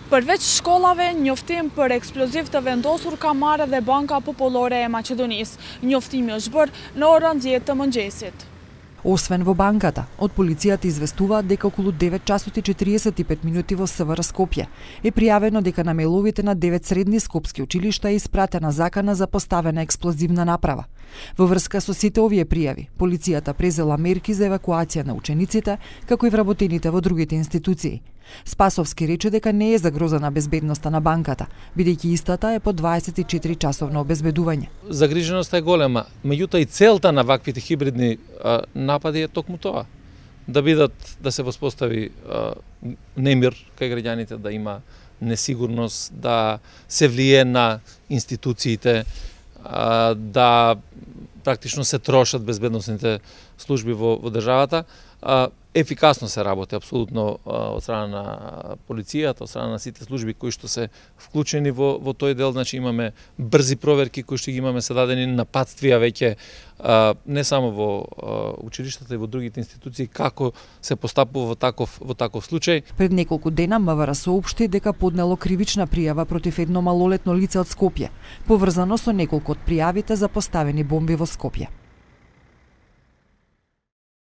Përveç shkollave, njoftim për eksploziv të vendosur ka marrë dhe Banka Popolore e Maqedonisë. Njoftimi është bërë në orën 10 të mëngjesit. Освен во банката, од полицијата известуваат дека околу 9 часот и 45 минути во СВР Скопје е пријавено дека на мејловите на 9 средни скопски училишта е испратена закана за поставена експлозивна направа. Во врска со сите овие пријави, полицијата презела мерки за евакуација на учениците, како и вработените во другите институции. Спасовски рече дека не е загрозена безбедноста на банката, бидејќи истата е по 24 часовно обезбедување. Загриженоста е голема, меѓутоа и целта на ваквите хибридни напади е токму тоа. Да се воспостави немир кај граѓаните, да има несигурност, да се влие на институциите, да практично се трошат безбедносните служби во државата. Ефикасно се работи апсолутно од страна на полицијата, од страна на сите служби кои што се вклучени во тој дел, значи имаме брзи проверки кои што ги имаме, се дадени напатствија веќе не само во училиштата и во другите институции како се постапува во таков случај. Пред неколку дена МВР соопшти дека поднело кривична пријава против едно малолетно лице од Скопје, поврзано со неколку од пријавите за поставени бомби во Скопје.